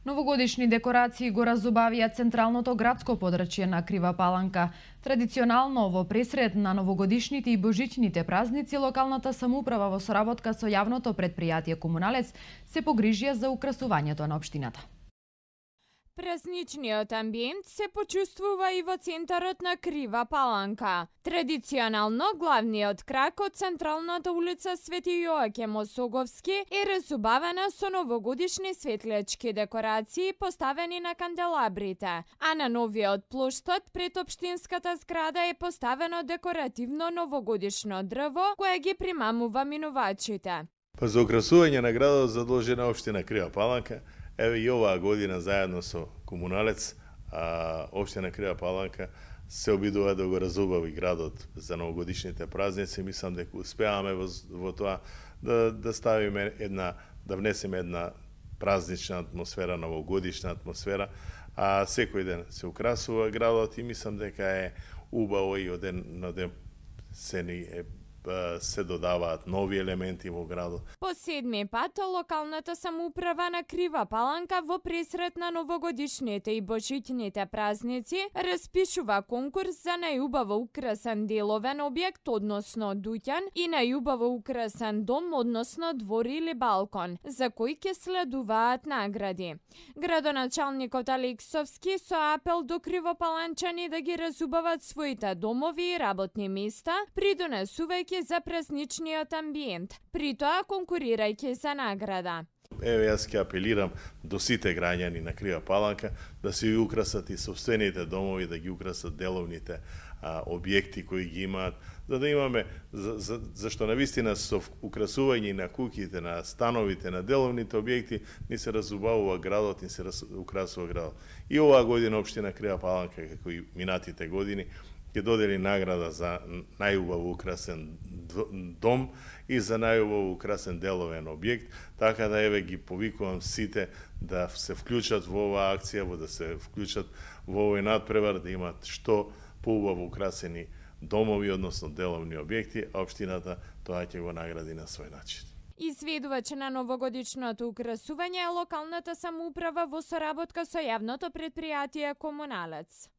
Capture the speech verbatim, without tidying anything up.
Новогодишни декорации го разубавија централното градско подрачје на Крива Паланка. Традиционално во пресред на новогодишните и божичните празници, локалната самоуправа во соработка со јавното претпријатие Комуналец се погрижија за украсувањето на општината. Празничниот амбиент се почувствува и во центарот на Крива Паланка. Традиционално, главниот крак од централната улица Свети Јоаким Осоговски е разубавена со новогодишни светлечки декорации поставени на канделабрите, а на новиот плоштад пред општинската зграда е поставено декоративно новогодишно дрво кое ги примамува минувачите. Па за украсување на градот задолжена општина Крива Паланка. Еве и оваа година заедно со Комуналец, а, општина Крива Паланка се обидува да го разубави градот за новогодишните празници. Мислам дека успеаваме во, во тоа да, да ставиме една, да внесеме една празнична атмосфера, новогодишна атмосфера, а секој ден се украсува градот и мислам дека е убаво и од ден на ден се ни е се додаваат нови елементи во градот. По седми пат, локалната самоуправа на Крива Паланка во пресрет на новогодишните и божичните празници распишува конкурс за најубаво украсен деловен објект, односно дуќан, и најубаво украсен дом, односно двор или балкон, за кои ќе следуваат награди. Градоначалникот Алексовски со апел до кривопаланчани да ги разубават своите домови и работни места, придонесувајќи за празничниот амбиент, при тоа конкурирајќи за награда. Еве јас ќе апелирам до сите граѓани на Крива Паланка да се украсат и сопствените домови, да ги украсат деловните а, објекти кои ги имаат, за да имаме, за, за, зашто навистина со украсување на куќите, на становите, на деловните објекти, ни се разубавува градот, ни се раз, украсува градот. И оваа година општина Крива Паланка, како и минатите години, ќе додели награда за најубаво украсен дом и за најубаво украсен деловен објект, така да еве ги повикувам сите да се вклучат во оваа акција, во да се вклучат во овој надпревар, да имат што поубаво украсени домови, односно деловни објекти, а општината тоа ќе го награди на свој начин. Изведувач на новогодишното украсување е локалната самоуправа во соработка со јавното претпријатие Комуналец.